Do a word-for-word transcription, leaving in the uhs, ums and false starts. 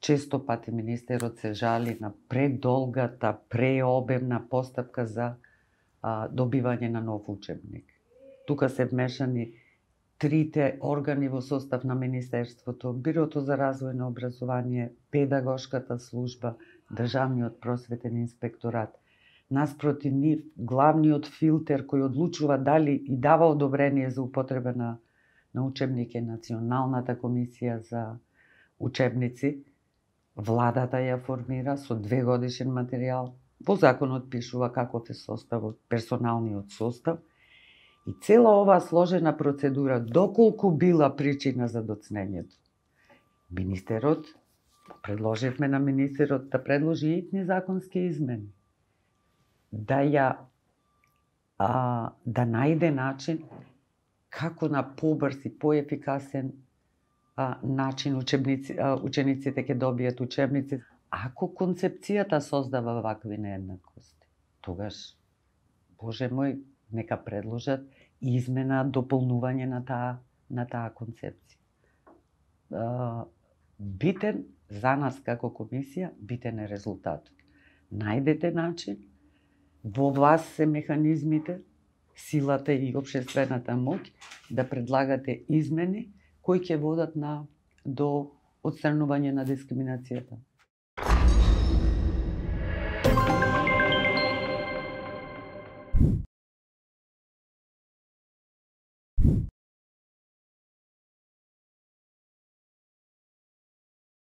често пати министерот се жали на предолгата, преобемна постапка за а, добивање на нов учебник. Тука се вмешани трите органи во состав на Министерството, Бирото за развој на образование, Педагошката служба, Државниот просветен инспекторат. Наспроти нив, главниот филтер кој одлучува дали и дава одобрение за употреба на, на учебник е Националната комисија за учебници. Владата ја формира со две годишен материјал. Во законот пишува каков е составот, персоналниот состав. И цела оваа сложена процедура, доколку била причина за доцнењето. Министерот, предложивме на министерот да предложи итни законски измени. Да ја а, да најде начин како на побрз и поефикасен а, начин учебници, а, учениците ќе добијат учебници. Ако концепцијата создава вакви нееднаквости, тогаш, Боже мој, нека предложат измена, дополнување на таа на таа концепција. А, битен за нас како комисија, битен е резултатот. Најдете начин, во вас се механизмите, силата и општествената моќ да предлагате измени кои ќе водат на до отстранување на дискриминацијата.